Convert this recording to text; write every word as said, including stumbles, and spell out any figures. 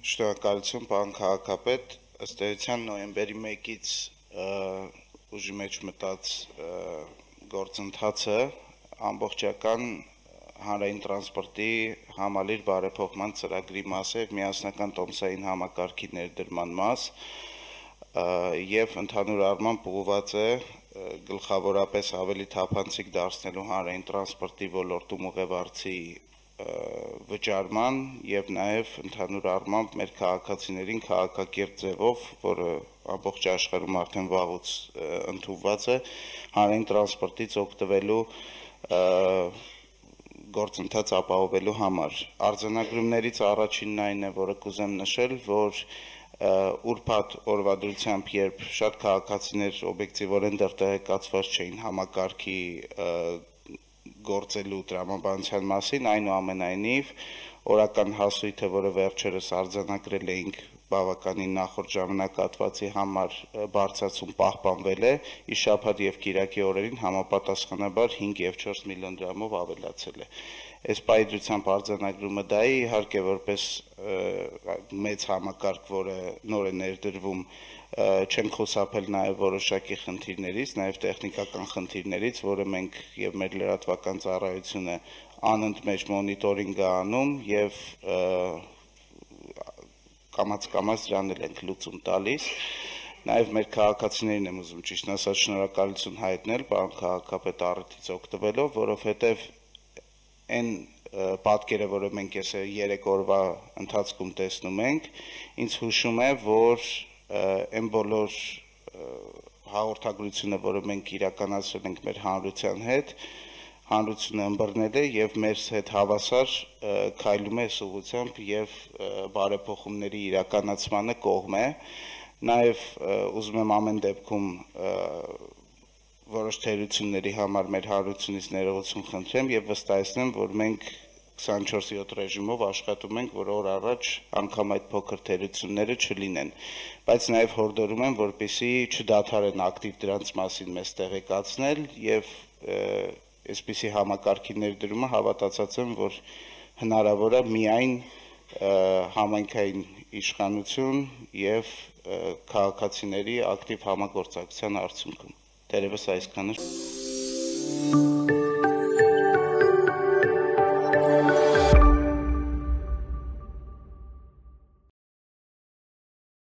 Շնորհակալություն, պարոն քաղաքապետ, ըստ էության նոյեմբերի մեկից ուժի մեջ մտած գործընթացը ամբողջական հանրային տրանսպորտի համալիր բարեփոխման ծրագրի մաս է եւ միասնական տոմսային համակարգի ներդրման մաս եւ ընդհանուր առմամբ ուղղված է գլխավորապես ավելի թափանցիկ դարձնելու հանրային տրանսպորտի ոլորտում ուղևորցի վճարման եւ նաեւ ընդհանուր առմամբ մեր քաղաքացիներին քաղաքակիրթ ձևով, որը ամբողջ աշխարհում արդեն վաղուց ընդունված է, հանրային տրանսպորտից օգտվելու գործընթաց ապահովելու համար։ Արձանագրումներից առաջինն այն է, որը կուզեմ նշել, որ ուրբաթ օրվադրությամբ, երբ շատ քաղաքացիներ օբյեկտիվորեն դեռ տեղեկացված չէին համակարգի գործելու տրամաբանության մասին, այնուամենայնիվ օրական հասույթը, որը վերջերս արձանագրել էինք բավականին նախորդ ժամանակահատվածի համար բարձրացում պահպանվել է, ի շաբաթ եւ կիրակի օրերին համապատասխանաբար հինգ եւ չորս միլիոն դրամով ավելացել է։ Այս պայծրությամբ արձանագրումը դա է, իհարկե որպես մեծ համակարգ, որը նոր է ներդրվում, չենք խուսափել նաև որոշակի խնդիրներից, նաև տեխնիկական խնդիրներից, որը մենք եւ մեր լրատվական ծառայությունը անընդմեջ մոնիտորինգ է անում եւ կամաց-կամաց դրան էլ ենք լուծում տալիս։ Նաև մեր քաղաքացիներին եմ ուզում ճիշտ ասած շնորհակալություն հայտնել, պարոն քաղաքապետ, առիթից օգտվելով, որովհետեւ այն պատկերը, որը մենք այս երեք օրվա ընթացքում տեսնում ենք, ինձ հուշում է, որ այն բոլոր հաղորդագրությունը, որը մենք իրականացրել ենք մեր հանրության հետ, հանրությունը ըմբռնել է եւ մեր հետ հավասար քայլում է այս ուղղությամբ եւ բարեփոխումների իրականացմանը կողմ է։ Նաեւ ուզում եմ ամեն դեպքում որոշ թերությունների համար մեր հանրությունից ներողություն խնդրեմ եւ վստահեցնեմ, որ մենք քսանչորս յոթ ռեժիմով աշխատում ենք, որ օր առաջ անգամ այդ փոքր թերությունները չլինեն, բայց նաեւ հորդորում եմ, որպեսզի չդադարեն ակտիվ դրանց մասին մեզ տեղեկացնել եւ այսպիսի համակարգի ներդրումը հավատացած եմ, որ հնարավոր է միայն համայնքային իշխանություն եւ քաղաքացիների ակտիվ համագործակցության արդյունքում։ Դերևս այսքանը։